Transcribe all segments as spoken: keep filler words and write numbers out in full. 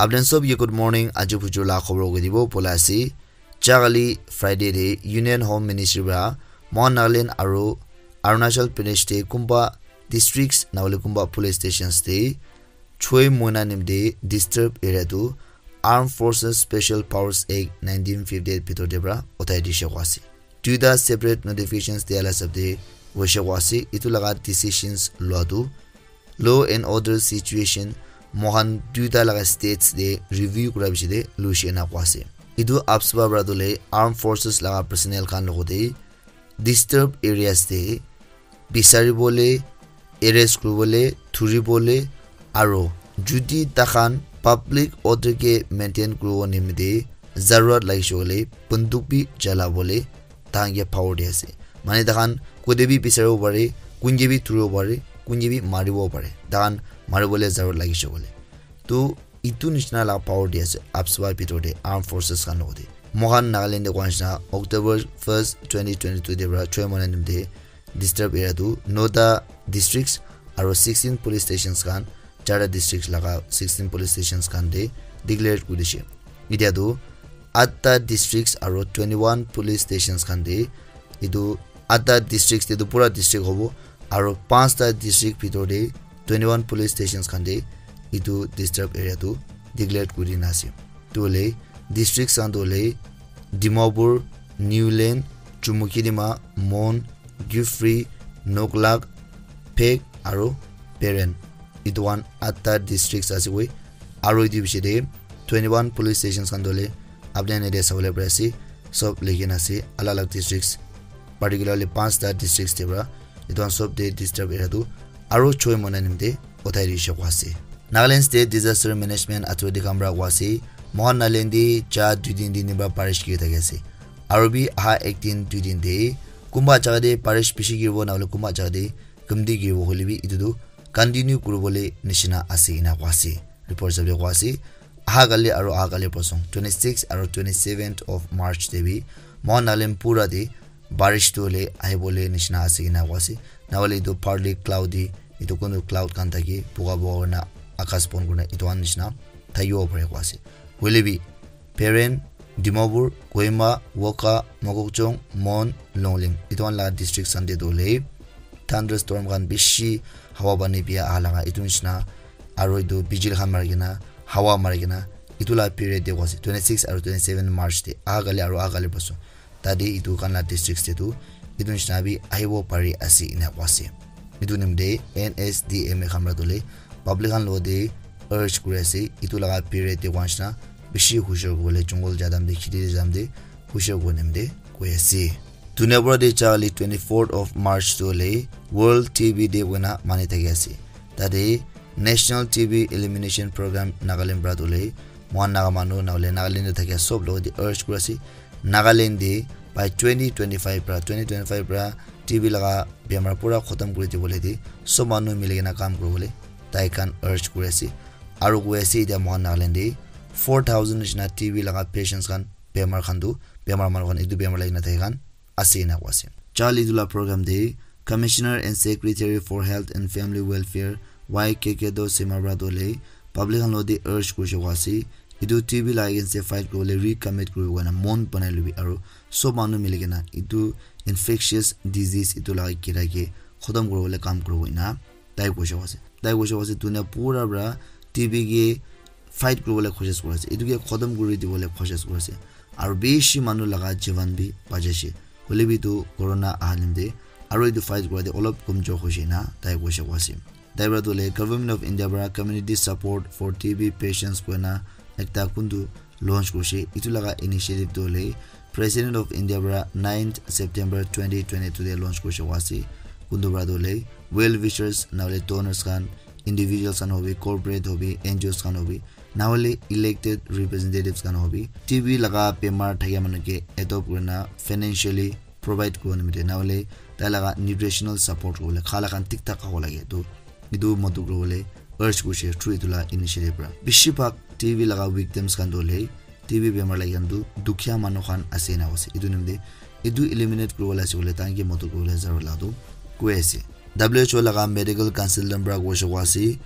Apni khan sob ke good morning. Aji bujur la khobor koi dibo bola ase. Jagali Friday te Union Home Ministry para Mahan Nagaland aru Arunachal Pradesh te kumba districts na hoile kumba police stations te choi moina nimte disturb area tu Armed Forces Special Powers Act nineteen fifty-eight bhitor te para uthai dishe koa ase. Duita separate notifications dia la hisab te hoishe koa ase. Itu laga decisions lua tu law and order situation mohan duita laga states te review kura bishi te luishe na koa ase. Itu AFSPA para tu le Armed Forces laga personnel khan logote disturb areas te bisari bole, arrest kuri bole, thuri bole, aro judi takhan public order ke maintain kuribo nimite zarurat lagise koile bunduk bi chala bole takhan ke power di ase. Mane takhan kote bi bisaribo pare, kun ke bi thuribo pare, kun ke bi maribo pare. Takhan maribole zarurat lagise koile. To itu nishina la power di ase AFSPA bhitor te Armed Forces khan logote. Mohan Nagaland te koa nishina October first, twenty twenty-two te para choi moina nimite disturb area tu nota districts aro sixteen police stations khan, charta districts laga sixteen police stations khan te declare kuri dishe. Itya tu atta districts aro twenty-one police stations khan te, itu atta districts te tu pura district hobo, aro panchta district bhitor te twenty-one police stations khan te itu disturb area tu declare kuri na ase. Tu hoile districts khan tu hoile Dimapur, Niuland, Chumukedima, Mon, Kiphire, Noklak, Phek aro Peren. Itu khan atta districts ase koi. Aro itu bishi te twenty-one police stations khan tu hoile apni khan yate sabole pari ase. Sob likhi na ase, alag alag districts, particularly panchta districts te para itu khan sob te disturb area tu aro choi moina nimite uthai dishe koa ase. Nagaland State Disaster Management Authority khan para koa ase, Mohan Nagaland te ja dui din, din din para barish kiri thaki ase. Aro bi aha ek din, dui din te kumba jaga te barish bishi kiribo, na hoile kumba jaga te kamti kiribo, hoile bi itu tu continue kuribole nishina ase ena koa ase. Report hisab te koa ase, aha kali aro aha kali parsong twenty-six aro twenty-seventh of March te bi Mohan Nagaland pura te barish tu hoile ahibole nishina ase ena koa ase. Na hoile itu partly cloudy, itu kunu cloud khan thaki buga buga kurina akas pon kurina itu khan nishina thakibo pare koa ase. Hoile bi Peren, Dimapur, Kohima, Wokha, Mokokchung, Mon, Longleng, itu khan laga district khan te tu hoile thunderstorm khan bishi hawa pani bia aha laga itu nishina, aro itu bijili khan mari kena, hawa mari kena, itu laga period te koa ase, twenty-six aro twenty-seven March te, aha kali aro aha kali parsong. Tate itu khan laga districts te tu itu nishina bi ahibo pari ase ena koa ase. Itu nimite N S D M A khan para tu hoile public khan logote urge kuri ase, itu laga period te koa nishina bishi hushar kuribole, jungle ja time te, kheti te ja time te hushar kuribo nimite koi ase. Dunia pura te ja hoile twenty-fourth of March tu hoile World T B Day koina mani thaki ase. Tate National T B Elimination Program Nagaland para tu hoile mohan Naga manu na hoile Nagaland te thakia sob logote urge kuri ase, Nagaland te by twenty twenty-five para, twenty twenty-five para T B laga bemar pura khotom kuri dibole te sob manu mili kena kam kuribole tai khan urge kuri ase. Aro koi ase, itya mohan Nagaland te four thousand nishina T B laga patients khan, bemar khan tu, bemar manu khan, itu bemar lagi na thaka khan ase ena koa ase. Ja hoile itu laga program te Commissioner and Secretary for Health and Family Welfare Y K K Doshima para tu hoile public khan logote urge kurishe koa ase, itu T B laga against te fight kuribole recommit kuribo koina mon banai lobi, aro sob manu mili kena itu infectious disease itu laga kira ke khotom kuribole kam kuribo ena tai koishe koa ase. Tai koishe koa ase, dunia pura para T B ke fight kuribole koshish kuri ase, itu ke khotom kuri dibole koshish kuri ase, aro bishi manu laga jivan bi bachai she. Hoile bi itu corona aha nimite aro itu fight kura te olop komjor hoishe na tai koishe koa ase. Tai para tu hoile Government of India para community support for T B patients koina ekta kuntu launch kurishe. Itu laga initiative tu hoile President of India para ninth September twenty twenty-two te launch kurishe koa ase. Kuntu para tu hoile well wishers na hoile donors khan, individuals khan hobi, corporate hobi, N G Os khan hobi, na hoile elected representatives khan hobi, T B laga bemar thakia manu ke adopt kurina financially provide kuribo nimite, na hoile tai laga nutritional support kuribole, khala khan thik thak khabo lage, to itu matu kuribole urge kurishe through itu la initiative para. Bishi bhag T B laga victims khan tu hoile, T B bemar lagi khan tu dukhia manu khan ase na ase. Itu nimite itu eliminate kuribole ase koile, tai khan ke matu kuribole zarur la tu koi ase. W H O laga medical consultant para koishe koa ase,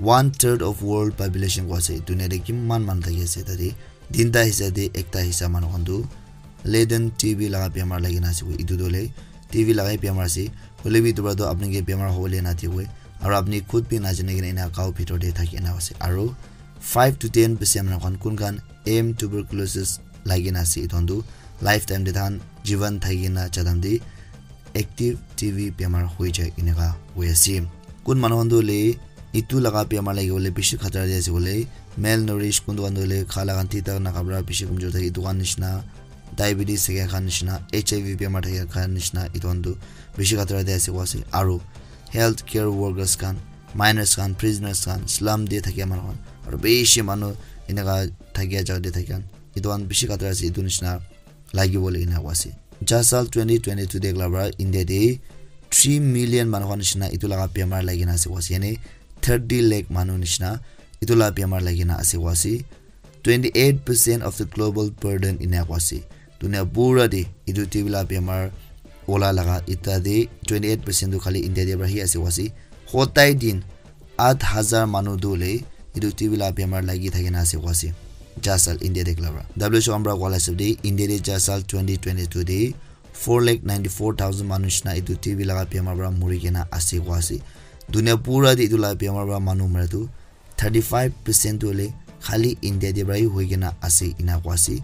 one third of world population koi ase. Dunia te kiman manu thaki ase tate, tinta hissa te ekta hissa manu khan tu latent T B laga bemar lagi na ase koi. Etu tu hoile T B laga bemar ase. Hoile bi etu para tu apni ke bemar hobole na dibo. Aru apni khud bi na jane kena ena gao bhitor te thaki na ase. Aru five to ten percent manu khan kun khan M tuberculosis lagi na ase. Etu khan tu lifetime te than jivan thaki na jadam te active T B bemar hoi jai eneka hoi ase. Kun manu khan tu hoile etu laga bemar lagi bole bishi khatara te ase bole, malnourished, kun tu khan tu hoile kha laga thik thak na kha para bishi kamjor thaki etu khan nishina, diabetes thaki khan nishina, H I V bemar thaki khan nishina, etu khan tu bishi khatara te ase koi ase. Aru health care workers khan, minors khan, prisoners khan, slum te thaki manu khan, aru bishi manu eneka thaki jaga te thaki khan, etu khan bishi khatara ase, etu nishina lagi bole ena koi ase. Ja sal twenty twenty-two te ekla para India te three million manu khan nishina etu laga bemar lagi na ase koi ase. Yani thirty lakh manu nishina etu laga bemar lagi na ase koi ase. Twenty-eight percent of the global burden ena koi ase. Dunia pura te etu T B laga bemar ola laga eta te twenty-eight percent tu khali India te para hi ase koi ase. Hotai din aat hazar manu tu hoile etu T B laga bemar lagi thaki na ase koi ase. Ja sal India te ekla para. W H O khan para koa la hisab te India te ja sal twenty twenty-two te four lakh ninety-four thousand manu nishina etu T B laga bemar para muri kena ase koi ase. Dunia pura te etu laga bemar para manu mara tu thirty-five percent tu hoile khali India te para hi hoi kena ase ena koi ase.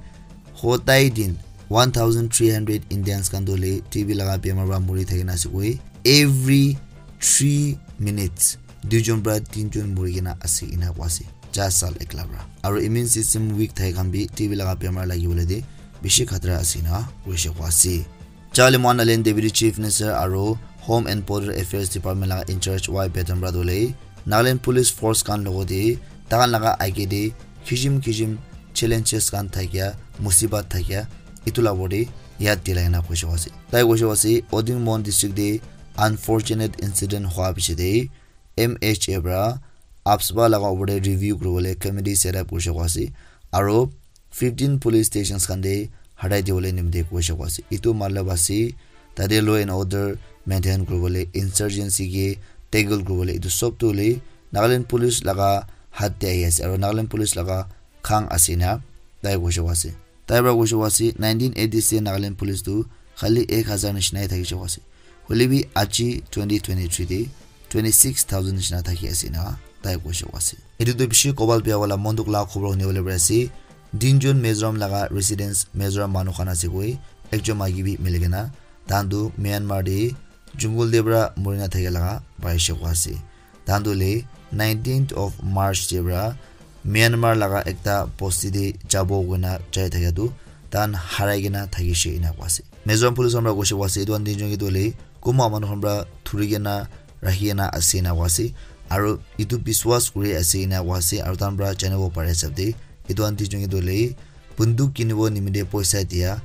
Hotai din one thousand three hundred Indians khan tu hoile T B laga bemar para muri thaki na ase koi. Every three minutes duijon para tinjon muri kena ase ena koi ase. Ja sal ekla para. Aru immune system weak thaki khan bi T B laga bemar lagi bole te bishi khatara ase ena koi se koi ase. Charlie Mohan Nagaland Deputy Chief Minister aru Home and Border Affairs Department laga in charge Y Patton para tu hoile Nagaland Police Force khan logot te takhan laga age te kisim kisim challenges khan thakia, musibat thakia, etu la opor te yad dilai na koi se koi ase. Tai koi se koi ase, Oding Mon District te unfortunate incident hua piche te M H A para AFSPA laga opor te review kuri bole committee set up kuri se koi ase. Aru fifteen police stations khan te harai dibole nimite koi se koi ase. Etu matlab ase tate law and order maintain kuri bole, insurgency ke tackle kuri bole, etu sob tu hoile Nagaland Police laga hath te ahi ase. Aru Nagaland Police laga khang ase na tai koi se koi ase. Tai para koi se koi ase, nineteen eighty se Nagaland Police tu khali ek hazar nishina hi thaki se koi ase. Hoile bi aji twenty twenty-three te twenty-six thousand nishina thaki ase na tai koi se koi ase. Etu tu bishi kobal bia wala mon dukh la khobor hune bole pari ase. Tinjon Mizoram laga residents, Mizoram manu khan ase koi, ekjon maiki bi mili kena, tahan tu Myanmar te jungle te para muri na thaki laga pai se koi ase. Tahan tu hoile nineteenth of March te para Myanmar laga ekta bosti te jabo koina jai thakia tu tahan harai kena thakishe ena koi ase. Mizoram police khan para koishe koi ase, etu khan tinjon ke tu hoile kunba manu khan para thuri kena rakhi kena ase ena koi ase. Aru etu biswas kuri ase ena koi ase, aru tahan para janibo pare hisab te etu khan tinjon ke tu hoile bunduk kinibo nimite poisa dia,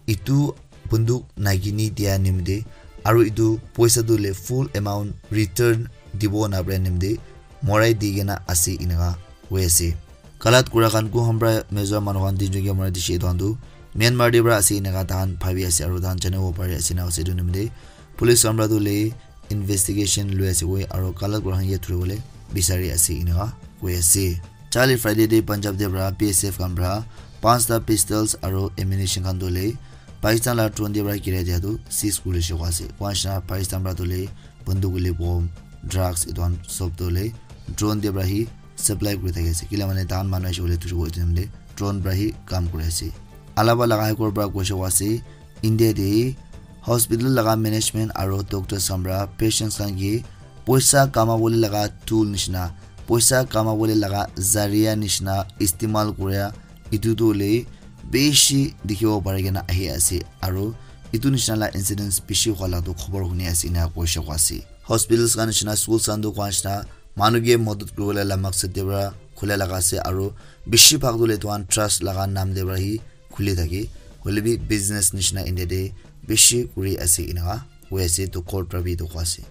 etu bunduk nakini dia nimite aru etu poisa tu hoile full amount return dibo napare nimite morai di kena ase eneka koi ase. Galat kura khan kun khan para Mizoram manu khan tinjon ke morai dishe etu khan tu Myanmar te para ase eneka tahan bhabi ase aru tahan janibo pari ase ena ase etu nimite police khan para tu hoile investigation lui ase koi aru galat kura khan ke thuribole bisari ase eneka koi ase. Charli Friday te Punjab te para B S F khan para panchta pistols aru ammunition khan tu hoile Pakistan la drone te para girai dia tu seize kuri se koi ase. Koi nishina Pakistan para tu hoile bunduk hoile bomb, drugs etu khan sob tu hoile drone te para hi supply kuri thaki ase. Kila mane tahan manu ahibo le thuribo etu time te drone para hi kam kuri ase. Alaba laga High Court para koishe koi ase India te hospital laga management aru doctors khan para patients khan ke poisa kamabole laga tool nishina, poisa kamabole laga zaria nishina istemal kuria etu tu hoile bishi dikhibo pari kena ahi ase aru etu nishina la incidents bishi hua la tu khobor huni ase ena koishe koi ase. Hospitals khan nishina, schools khan tu koi nishina manu ke madad kuribole la maksad te para khula laga ase aru bishi bhag tu hoile etu khan trust laga naam te para hi khuli thake, hoile bi business nishina India te bishi kuri ase eneka koi ase, etu court para bi etu koi ase.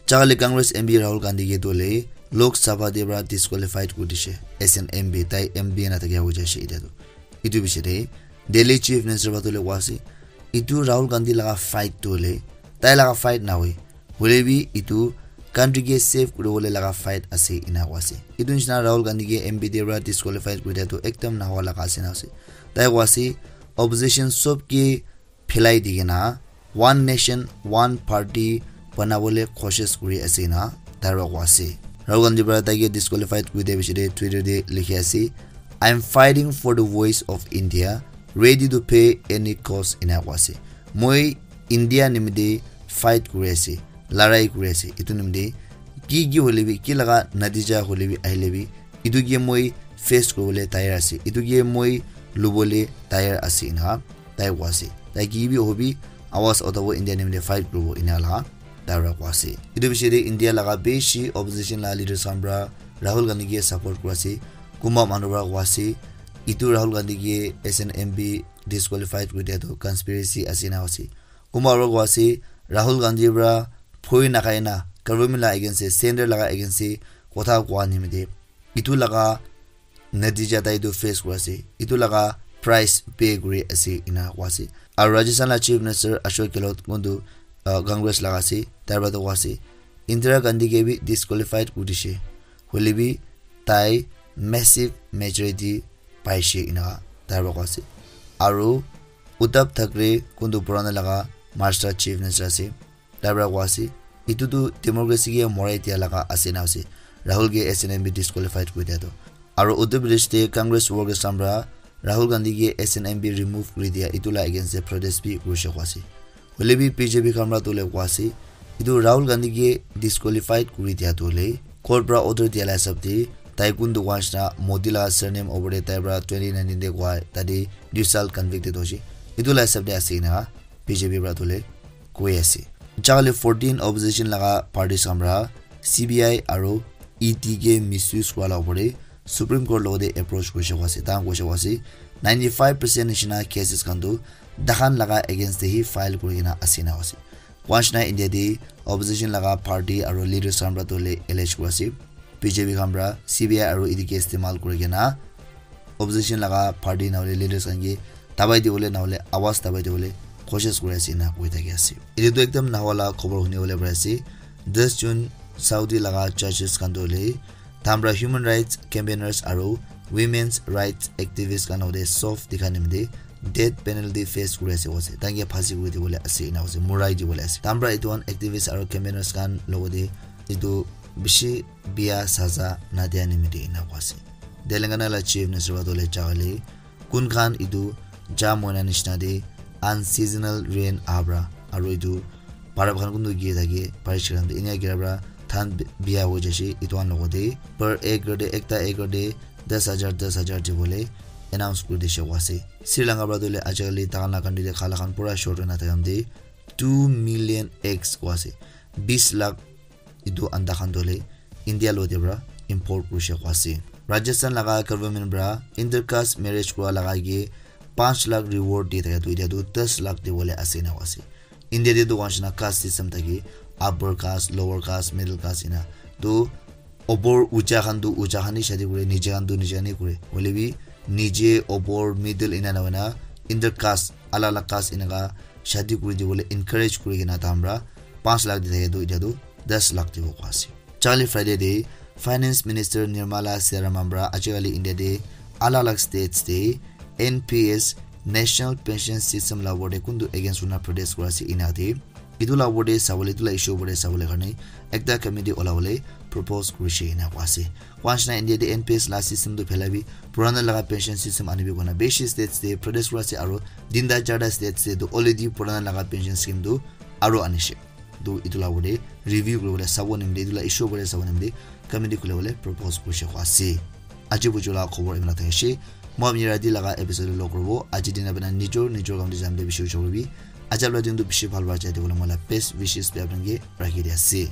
Chakali Congress M P Rahul Gandhi ke tu hoile Lok Sabha te para disqualified kuri dishe as an M P, tai M P na thakia hoi jaise etia tu. Etu piche te Delhi Chief Minister para tu hoile koi ase, etu Rahul Gandhi laga fight tu hoile tai laga fight na hoi, hoile bi etu country ke save kuribole laga fight ase ena koa ase. Etu nishina Rahul Gandhi ke M P te para disqualified kuri dia tu ekdam nahoa laga ase na ase. Tai koa ase opposition sob ke philai di kena one nation one party banabole koshish kuri ase na tai para koa ase. Rahul Gandhi para tai ke disqualified kuri dia piche te Twitter te likhi ase, "I am fighting for the voice of India, ready to pay any cost," ena koa ase. Moi India nimite fight kuri ase, larai kuri ase. Etu nimite ki ki hoile bi, ki laga natija hoile bi, ahile bi, etu ke moi face kuribole tayar ase, etu ke moi lubole tayar ase ena tai koa ase. Tai ki bi hobi, awaz utabo, India nimite fight kuribo ena laga tai para koa ase. Etu piche te India laga bishi opposition laga leaders khan para Rahul Gandhi ke support kura ase. Kumba manu para koa ase, etu Rahul Gandhi ke S N M P disqualified kuri dia tu conspiracy ase na ase. Kumba para koa ase, Rahul Gandhi para phoi nakhai na government laga against te, center laga against te kotha koa nimite etu laga natija tai tu face kuri ase, etu laga price pay kuri ase ena koa ase. Aru Rajasthan laga Chief Minister Ashok Gehlot kuntu, uh, Congress laga ase, tai para tu koa ase, Indira Gandhi ke bi disqualified kuri dishe, hoile bi tai massive majority paishe ena tai para koa ase. Aru Uddhav Thackeray kuntu purana laga Maharashtra Chief Minister ase, tai para koa ase, etu tu democracy ke morai dia laga ase na ase, Rahul ke S N M P disqualified kuri dia tu. Aru Uttar Pradesh te Congress workers khan para Rahul Gandhi ke S N M P remove kuri dia, etu laga against te protest bi kurishe koa ase. Hoile bi B J P khan para tu le koa ase, etu Rahul Gandhi ke disqualified kuri dia tu le court para order dia laga hisab te tai kuntu koa nishina Modi laga surname opor te tai para twenty nineteen te koa tate dui saal convicted hoise, etu laga hisab te ase ena B J P para tu le koi ase. Jale fourteen opposition laga parties khan para C B I aru E D ke misuse kura laga opor te Supreme Court logote approach kurishe koa ase. Tai khan koishe koa ase, ninety five percent nishina cases khan tu takhan laga against te hi file kuri kena ase na ase. Koa nishina India te opposition laga party aru leaders khan para tu le allege kura ase, B J P khan para C B I aru E D ke istemal kuri kena opposition laga party na hoile leaders khan ke dabai dibole na hoile awaz dabai dibole koshish kuri ase ena koi thaki ase. Etu tu ekdam nahoa laga khobor huni bole pari ase. Dais June Saudi laga judges khan tu hoile tai khan para human rights campaigners aru women's rights activists khan logote sof dikha nimite death penalty face kuri ase koa ase. Tai khan ke phasi kuri dibole ase ena koa ase, morai dibole ase. Tai khan para etu khan activists aru campaigners khan logote etu bishi bia saza na dia nimite ena koa ase. Telangana laga Chief Minister para tu le jale kun khan etu ja moina nishina te unseasonal rain aha para aru etu para khan kuntu gira thake, barish khan te enia gira para dhan bi-, bia hoi jaise. Etu khan logote per acre te, ekta acre te das hajar, das hajar dibole announce kuri dishe koa ase. Sri Lanka para tu le ajikali tai khan laga country te khala khan pura short hoi na thaka te two million eggs koa ase, bis lakh etu anda khan tu le India logote para import kurishe koa ase. Rajasthan laga government para intercaste marriage kura laga ke panch lakh reward di thaka tu etia tu das lakh dibole ase ena koa ase. India te tu koa nishina caste system thake, upper caste, lower caste, middle caste ena. Tu opor ucha khan tu ucha khan hi shadi kure, niche khan tu niche khan hi kure. Hoile bi niche, opor, middle ena na hoina intercaste, alag alag caste eneka shadi kuri dibole encourage kuri kena tai khan para panch lakh di thake tu etia tu das lakh dibo koa ase. Jale Friday te Finance Minister Nirmala Sitharaman para ajikali India te alag alag states te N P S, National Pension System laga opor te kuntu against kurina protest kura ase ena te etu laga opor te sabole, etu laga issue opor te sabole karne ekta committee ulabole propose kurishe ena koa ase. Koa nishina India te N P S laga system tu phelai bi purana laga pension system anibi koina bishi states te protest kura ase aru tinta charta states te tu already purana laga pension scheme tu aru anishe. Tu etu laga opor te review kuribole sabo nimite, etu laga issue opor te sabo nimite committee khulibole propose kurishe koa ase. Aji buju laga khobor imina thakishe. Moi apni rati laga episode te log kuribo. Aji din apni nijor nijor kam te jam te bishi ujor kuribi. Aji apni din tu bishi bhal para jai dibole moi laga best wishes bi apni ke rakhi di ase.